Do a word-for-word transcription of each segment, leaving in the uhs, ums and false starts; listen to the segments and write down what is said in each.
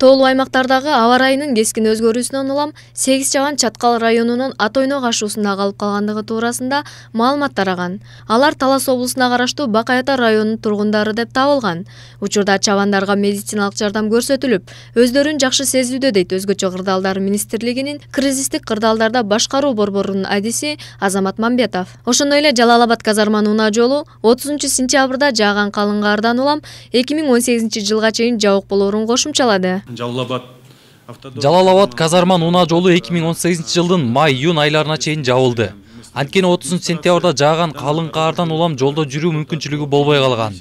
Тоолуу аймактардагы аба ырайынын кескин өзгөрүүсүнөн улам сегиз чабан Чаткал районунун Атойно кашуусунда калып калгандыгы туурасында маалымат тараган. Алар Талас облусуна караштуу Бакай Ата районунун тургундары деп табылган. Учурда чабандарга медициналык жардам көрсөтүлүп, өздөрүн жакшы сезүүдө дейт Өзгөчө кырдаалдар министрлигинин кризистик кырдаалдарда башкаруу борборунун адиси Азамат Мамбетов. Ошондой эле Жалал Абад казарманын унаа жолу отузунчу сентябрда жааган калың кардан улам эки миң он сегизинчи жылга чейин жабык болоорун кошумчалады. Жалал Абад казарман унаа жолу эки миң он сегизинчи жылдын май-июнь айларына чейин жабылды. Анткени отузунчу сентябрда жааган калың кардан улам жолдо жүрүү мүмкүнчүлүгү болбой калган.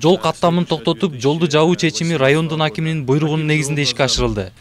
Жол каттамын токтотуп, жолду жабуу чечими райондун акиминин буйругунун негизинде ишке ашырылды.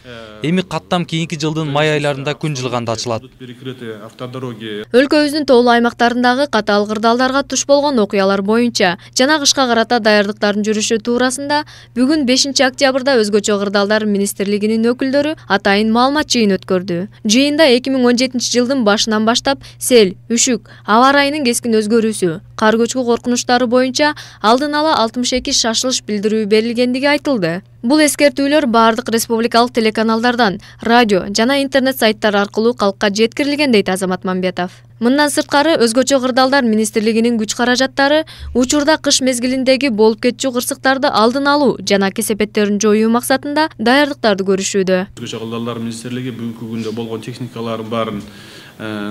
Эми каттам кийинки жылдын май айларында күн жылганда ачылат. Өлкөбүздүн тоолуу аймактарындагы катаал кырдаалдарга туш болгон окуялар боюнча жана кышка карата даярдыктардын жүрүшү туурасында бүгүн бешинчи октябрда Өзгөчө кырдаалдар министрлигинин өкүлдөрү атайын маалымат жыйын өткөрдү. Жыйында эки миң он жетинчи жылдын башынан баштап сел, үшүк, аба ырайынын кескин өзгөрүүсү, кар көчкү коркунучтары боюнча алдын ала алтымыш эки шашылыш билдирүү берилгендиги айтылды. Бул эскертүүлөр бардык республикалык телеканалдардан, радио жана интернет сайттар аркылуу калкка жеткирилген дейт Азамат Мамбетов. Мындан сырткары Өзгөчө кырдаалдар министрлигинин күч каражаттары учурда кыш мезгилиндеги болуп кетчү кырсыктарды алдын алуу жана кесепеттерин жоюу максатында даярдыктарды көрүшүүдө. Өзгөчө кырдаалдар министрлиги бүгүнкү күндө болгон техникалардын баарын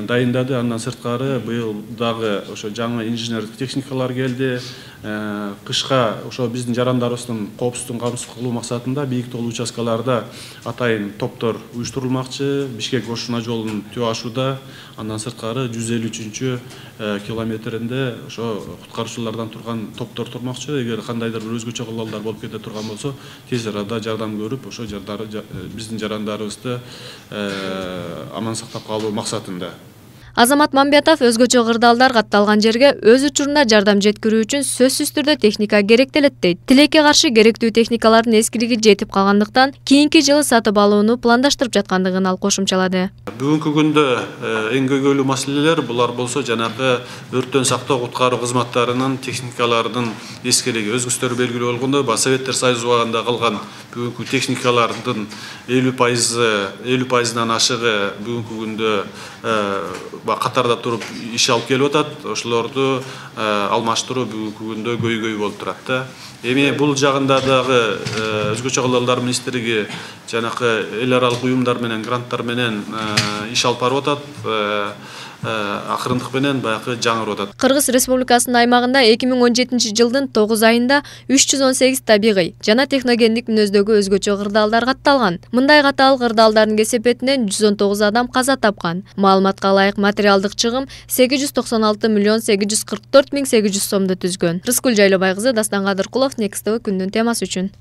дайындады. Андан сырткары быйыл дагы ошо жаңы инженердик техникалар келди. Кышка ошо биздин жарандарыбыздын коопсуздугун камсыз кылуу максатында бийик тоолуу участкаларда атайын топтор уюштурулмакчы. Бишкек Ошуна жолун түп ашууда. Андан сырткары жүз элүү үчүнчү километринде ошо куткаруучулардан турган топтор турмакчы. Эгер кандайдыр бир өзгөчө кылдаалдар болуп кете турган болсо, тез арада жардам көрүп, ошо биздин жарандарыбызды аман сактап калуу максатында. Азамат Мамбетов Өзгөчө кырдаалдар катталган жерге өз учурунда жардам жеткирүү үчүн сөзсүз түрдө техника керектелет дейт. Тилекке каршы керектүү техникалардын эскилиги жетип калгандыктан кийинки жылы сатып алууну пландаштырып жаткандыгын ал кошумчалады. Бүгүнкү күндө эң көйгөйлүү маселелер булар болсо жанагы өрттөн сактоо куткаруу кызматтарынын техникаларынын эскилиги. Өзгөчтөр белгилүү болгондой, Советтер Союзу убагында калган бүгүнкү техникалардын элүү пайызынан ашыгы бүгүнкү күндө катарда туруп иш алып келип атат. Ошолорду алмаштыруу бүгүнкү күндө көйгөй болуп турат да. Эми бул жагында дагы Өзгөчө кырдаалдар министрлиги жанакы эл аралык уюмдар менен, гранттар менен иш алып барып атат. Акырындык менен баягы жаңырып атат. Кыргыз Республикасынын аймагында эки миң он жетинчи жылдын тогуз айында үч жүз он сегиз табигый жана техногендик мүнөздөгү өзгөчө кырдаалдар катталган. Мындай катаал кырдаалдардын кесепетинен жүз он тогуз адам каза тапкан. Маалыматка ылайык материалдык чыгым сегиз жүз токсон алты миллион сегиз жүз кырк төрт миң сегиз жүз сомду түзгөн. Рыскүл Жайлобай кызы, Дастан Кадыркулов, Next тэ вэ күндүн темасы үчүн.